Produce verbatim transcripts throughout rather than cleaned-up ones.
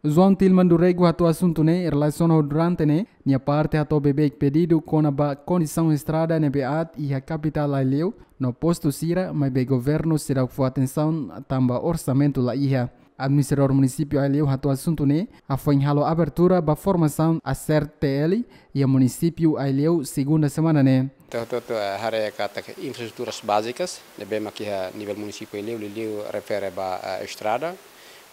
João Tilman do Rego hato'o asuntu ne'e relasiona ho durante ne'e nia parte hato'o beibeik pedidu kona-ba kondisaun estrada ne'ebé aat iha kapitál Aileu no postu sira, maibé governu seidauk fó atensaun tanba orsamentu la iha. Administradór munisípiu Aileu hato'o asuntu ne'e hafoin halo abertura ba formasaun ACERT-T L iha munisípiu Aileu segunda semana ne'e. Ita hotu-hotu, eh, haree katak infraestruturas bázikas ne'ebé mak iha nivel munisípiu Aileu, liuliu refere ba, eh, estrada,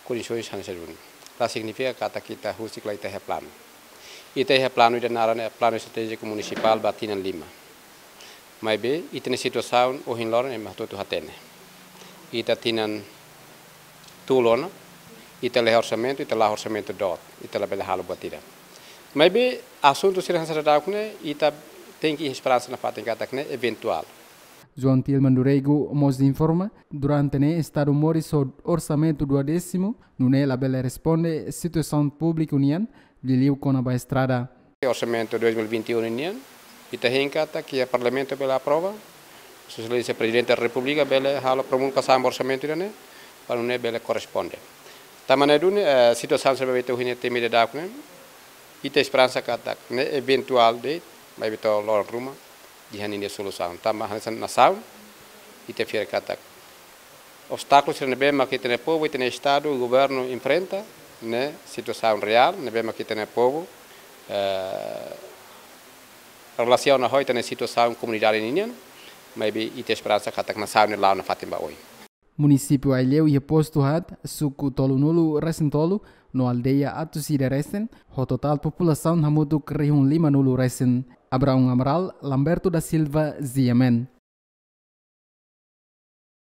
kondisoens hanesan duni. La signifika katak ita husik la ita iha planu. Ita iha planu ida naran, eh, Planu Estratéjiku Munisipál ba tinan lima. Maibé ita-nia situasaun ohin loron ema hotu-hotu hatene. Ita tinan tolu ona, ita laiha orsamentu, ita laiha orsamentu doot, ita labele halo buat ida. Maibé asuntu sira hanesan daudauk ne'e, ita tenke iha esperansa nafatin katak ne'e eventuál. João Tilman do Rego mós informa, durante ne'e estadu moris ho orsamentu duodésimu, nune'e labele responde situasaun públiku nian, liuliu kona-ba estrada. Orsamentu dois mil e vinte e um nian, ita hein katak iha Parlamentu bele aprova, sosialista Prezidente da Repúblika bele halo promulgasaun ba orsamentu ida-ne'e, para nune'e bele korresponde. Tanba ne'e duni, eh, situasaun sira ne'ebé ita ohin temi daudauk ne'e, ita esperansa katak ne'e eventuál de'it, maibé to'o loron ruma iha ninia solusaun. Tanba hanesan nasaun, ita fiar katak obstákulu sira ne'ebé mak ita-nia povu, ita-nia estadu, governu enfrenta, ne'e situasaun reál ne'ebé mak ita-nia povu, eh, relasiona ho ita-nia situasaun komunidade ninian, maibé ita esperansa katak nasaun ne'e la'o nafatin ba oin. Munisípiu Aileu iha postu haat, suku tolunulu resin tolu, no aldeia atus ida resin, ho totál populasaun hamutuk rihun limanulu resin. Abraão Amaral, Lamberto da Silva, G M N.